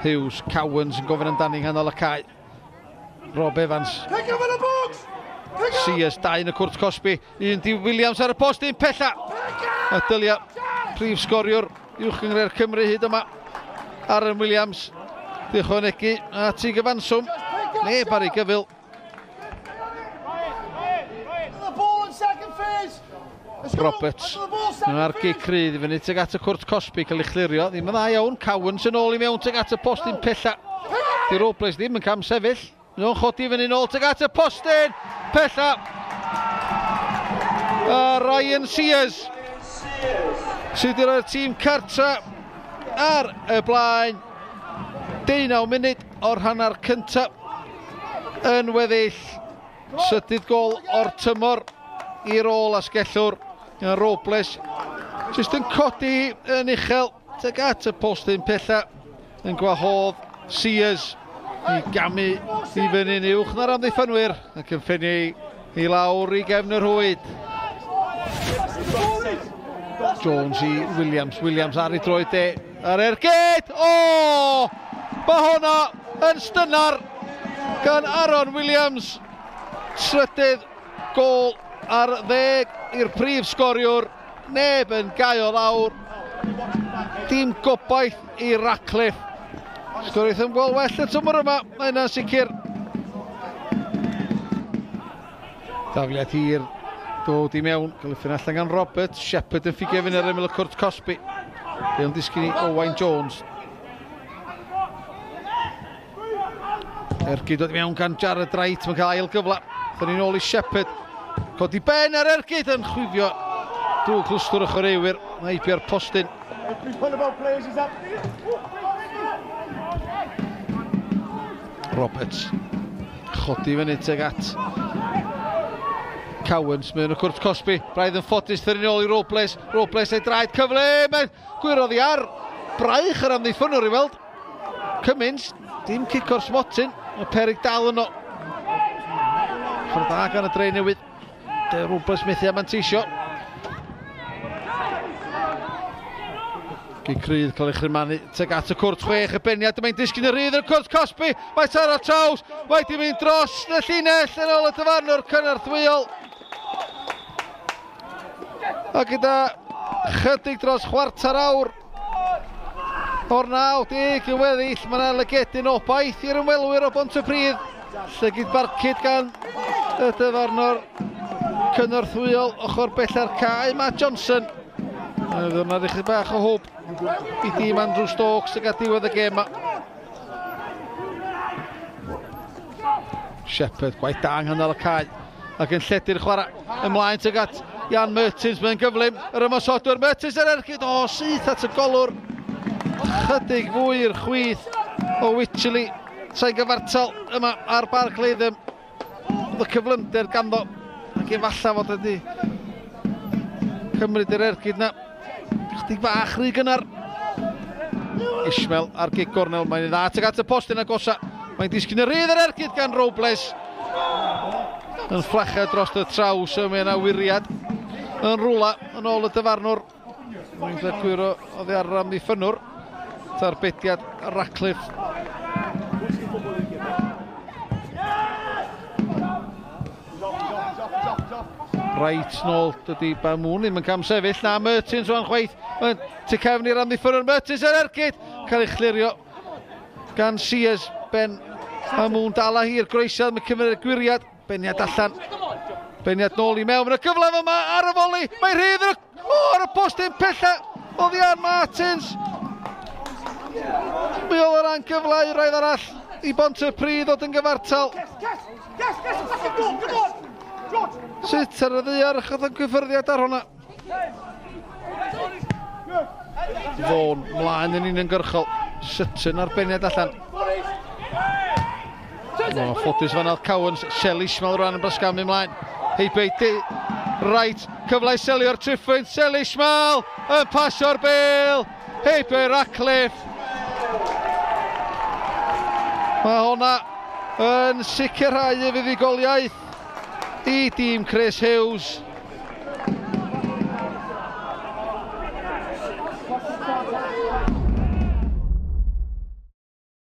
Hughes, Cowans yn gofyn amdani nghanol y cae. Rob Evans. Sears, 2 yn y cwrt cosbi. Un di Williams ar y post, un pella. A dylia prif sgoriwr Uwch Gynghrair Cymru hyd yma. Aaron Williams, di ychwanegu at ei gyfanswm. Neb ar ei gyfyl. Roberts a'r gic rydd i fyny tuag at y cwrt cosbi cael ei chlirio. Ddim yn dda iawn. Cowans yn ôl i mewn tuag at y postyn pella. Di Robles ddim yn cam sefyll. Nhw'n chodi fyny nôl tuag at y postyn pella. A Ryan Sears sydd wedi rhoi'r tîm cartra ar y blaen. 19 munud o'r hanner cyntaf yn weddill. Trydydd gol o'r tymor i'r ôl asgellwr. Robles jyst yn codi yn uchel tuag at y postyn pella yn gwahodd Sears i gamu i fyny'n uwch na'r amddiffynwyr ac yn ffynnu i lawr i gefn y rhwyd. Jones i Williams, Williams ar ei droed de, ar ergyd! O! Mae hwnna yn stynar gan Aaron Williams. Trydydd gol ar 10 i'r prif sgoriwr. Neb yn gau o lawr. Dim gobaith i Ratcliffe. Sgoriaeth yn gol well y tymor yma, mae yna'n sicr. Dafliad hir dod i mewn, cael ei allan gan Roberts. Shepherd yn ffigio fyny ar ymyl y cwrt cosbi. Fe'n disgyn i Owain Jones. Ergyd dod i mewn gan Jared Wright, mae'n cael ail gyfle. Dyn ni'n ôl i Shepherd. Codi ben ar ergyd yn chwifio drwy clwstwr y chwaraewyr. Mae heibio'r postyn. Roberts chodi fyny tuag at Cowans mewn y cwrt cosbi. Braidd yn ffodus, thyn ni'n ôl i Robles. Robles ei draed cyfle, mae'n gwyrodd i ar braich yr amddiffynwr i weld. Cummins, dim cic o'r smotyn, mae peryg dal yno. Ffordd dda gan y dre newydd. De Robles methu a manteisio. Gic rydd cael ei chrymanu tuag at y cwrt 6, y beniad, mae'n disgyn y rhydd yn y cwrt cosbi, mae taro traws, mae di mynd dros y llinell yn ôl y dyfarnwr cynorthwyol. A gyda chydig dros chwarter awr o'r 90 yn weddill, mae yna lygedyn obaith i'r ymwelwyr o Bontypridd. Llygid barcud gan y dyfarnwr cynorthwyol ochr bella'r cae, Matt Johnson. Fydd yna ddechrau bach o hwb i dîm Andrew Stokes ag at diwedd y gêm yma. Shepherd, gwaith da yng nghanol y cae ac yn lledu'r chwarae ymlaen tuag at Jan Mertens, mae'n gyflym, yr ymosodwr Mertens ar ergyd, o, syth at y golwr, chydig fwy i'r chwith o Wycherley, sa'n gyfartal yma ar Barc Latham, oedd y cyflymder ganddo, ac efallai fod wedi cymryd yr ergyd na, chydig bach rhy gynnar. Ishmael ar gig gornel, mae'n dda tuag at y postyn agosa, mae'n disgyn y rhydd yr ergyd gan Robles. Yn fflachau dros y traws, mae yna wiriad yn rwla yn ôl y dyfarnwr. Mae'n gwyro oddi ar yr amddiffynnwr. Tarbediad Ratcliffe. Reit nôl, dydy Bamoun ddim yn cam sefyll. Na, Mertens o'n chwaith. Mae'n tu cefn i'r amddiffynnwr. Mertens ar ergyd. Cael ei chlirio gan Sears. Ben Bamoun dal â hi'r groesiad. Mae'n cymryd y gwiriad. Beniad allan. Beniad nôl i mewn. Mae'n gyfle yma ar y foli. Mae rhydd yn y, ar y postyn pella. Oddi ar Martins. Mi oedd yr angyfle i roedd arall i Bontypridd ddod yn gyfartal. Sut ar y ddaear chath o'n gyffyrddiad ar hwnna? Fôn mlaen yn uniongyrchol. Sutton ar beniad allan. O, ffodus fan al Cowans. Shelley Ishmael rwan yn brasgamu ymlaen. Heibio i Right, cyfle i selio'r triphwynt. Shelley Ishmael yn pasio'r bêl. Heibio i Ratcliffe. Mae hwnna yn sicrhau y fuddugoliaeth i dîm Chris Hughes.